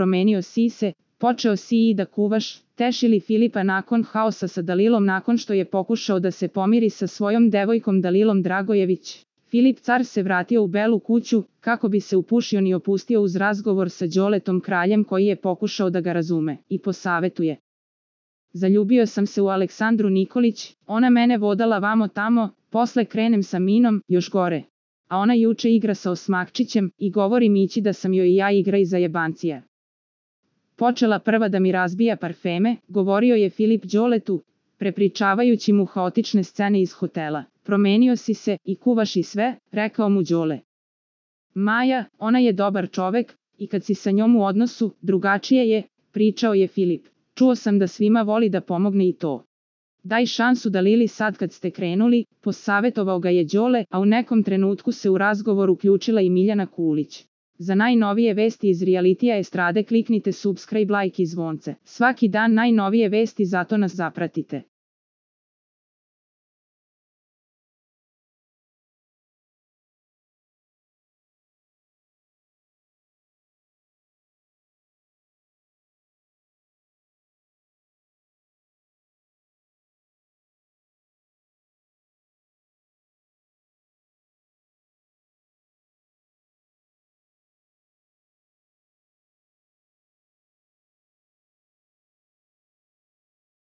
promenio si se, počeo si i da kuvaš, tešili Filipa nakon haosa sa Dalilom nakon što je pokušao da se pomiri sa svojom devojkom Dalilom Dragojević. Filip car se vratio u Belu kuću, kako bi se upušio ni opustio uz razgovor sa Đoletom kraljem koji je pokušao da ga razume i posavetuje. Zaljubio sam se u Aleksandru Nikolić, ona mene vodala vamo tamo, posle krenem sa Minom, još gore. A ona juče igra sa Osmakčićem i govori Mići da sam joj i ja igra iza jebancija. Počela prva da mi razbija parfeme, govorio je Filip Đoletu, prepričavajući mu haotične scene iz hotela. Promenio si se i kuvaš i sve, rekao mu Đole. Maja, ona je dobar čovek, i kad si sa njom u odnosu, drugačije je, pričao je Filip. Čuo sam da svima voli da pomogne i to. Daj šansu Dalili sad kad ste krenuli, posavetovao ga je Đole, a u nekom trenutku se u razgovor uključila i Miljana Kulić. Za najnovije vesti iz realitija estrade kliknite subscribe, like i zvonce. Svaki dan najnovije vesti, zato nas zapratite.